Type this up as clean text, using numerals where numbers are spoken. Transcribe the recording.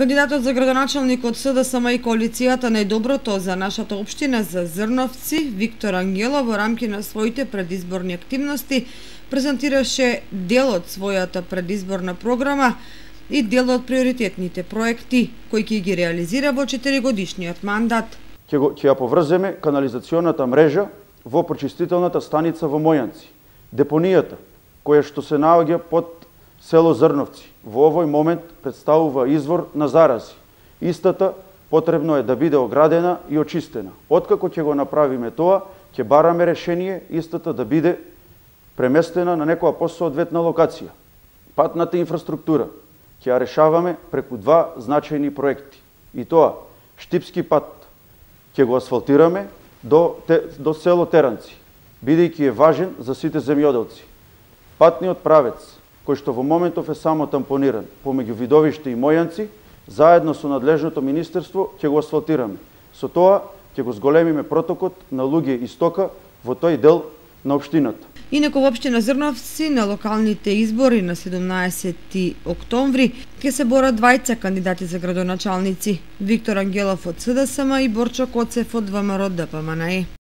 Кандидатот за градоначалник од СДСМ и коалицијата Најдоброто за нашата општина за Зрновци, Виктор Ангелов, во рамки на своите предизборни активности презентираше дел од својата предизборна програма и дел од приоритетните проекти кои ќе ги реализира во 4-годишниот мандат. Ќе ја поврземе канализационата мрежа во прочистителната станица во Мојанци, депонијата која што се наоѓа под село Зрновци. Во овој момент представува извор на зарази. Истата потребно е да биде оградена и очистена. Откако ќе го направиме тоа, ќе бараме решение истата да биде преместена на некоја посоодветна локација. Патната инфраструктура ќе ја решаваме преку два значајни проекти. И тоа, Штипски пат ќе го асфалтираме до село Теранци, бидејќи е важен за сите земјоделци. Патниот правец, кој што во моментов е само тампониран помеѓу Видовиште и Мојанци, заедно со надлежното министерство ќе го асфалтираме. Со тоа ќе го зголемиме протокот на луѓе и стока во тој дел на општината. Инаку во општина Зрновци на локалните избори на 17 октомври ќе се борат двајца кандидати за градоначалници: Виктор Ангелов од СДСМ и Борчо Коцев од ВМРО ДПМНЕ.